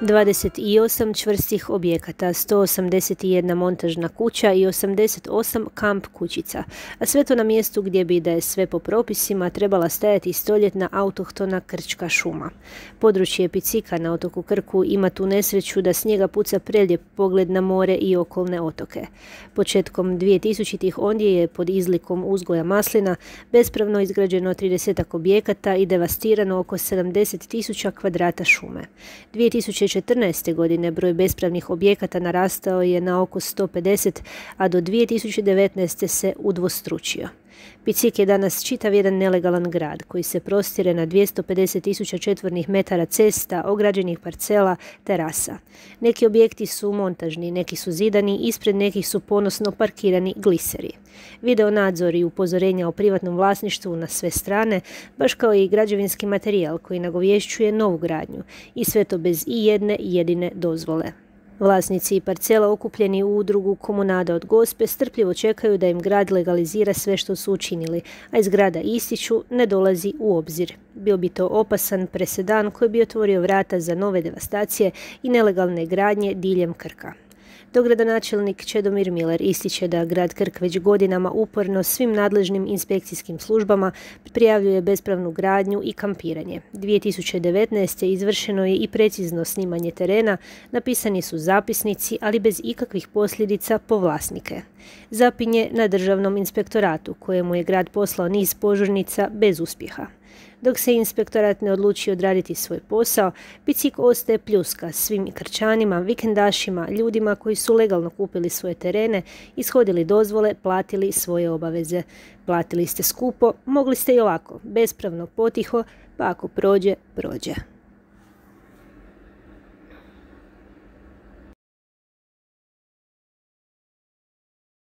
28 čvrstih objekata, 181 montažna kuća i 88 kamp kućica, a sve to na mjestu gdje bi, da je sve po propisima, trebala stajati stoljetna autohtona krčka šuma. Područje Picika na otoku Krku ima tu nesreću da s njega puca prelijep pogled na more i okolne otoke. Početkom 2000-ih ondje je pod izlikom uzgoja maslina bespravno izgrađeno 30 objekata i devastirano oko 70.000 kvadrata šume. 2014. godine broj bespravnih objekata narastao je na oko 150, a do 2019. se udvostručio. Picik je danas čitav jedan nelegalan grad koji se prostire na 250.000 četvornih metara cesta, ograđenih parcela, terasa. Neki objekti su montažni, neki su zidani, ispred nekih su ponosno parkirani gliseri. Video nadzor i upozorenja o privatnom vlasništvu na sve strane, baš kao i građevinski materijal koji nagovješćuje novu gradnju, i sve to bez i jedne jedine dozvole. Vlasnici parcela okupljeni u udrugu Komunada od Gospe strpljivo čekaju da im grad legalizira sve što su učinili, a iz grada ističu ne dolazi u obzir. Bio bi to opasan presedan koji bi otvorio vrata za nove devastacije i nelegalne gradnje diljem Krka. Dogradonačelnik Čedomir Miler ističe da grad Krk već godinama uporno svim nadležnim inspekcijskim službama prijavljuje bespravnu gradnju i kampiranje. 2019. izvršeno je i precizno snimanje terena, napisani su zapisnici, ali bez ikakvih posljedica po vlasnike. Zapinje na državnom inspektoratu, kojemu je grad poslao niz požurnica bez uspjeha. Dok se inspektorat ne odluči odraditi svoj posao, Picik ostaje pljuska svim Krčanima, vikendašima, ljudima koji su legalno kupili svoje terene, ishodili dozvole, platili svoje obaveze. Platili ste skupo, mogli ste i ovako, bespravno, potiho, pa ako prođe, prođe.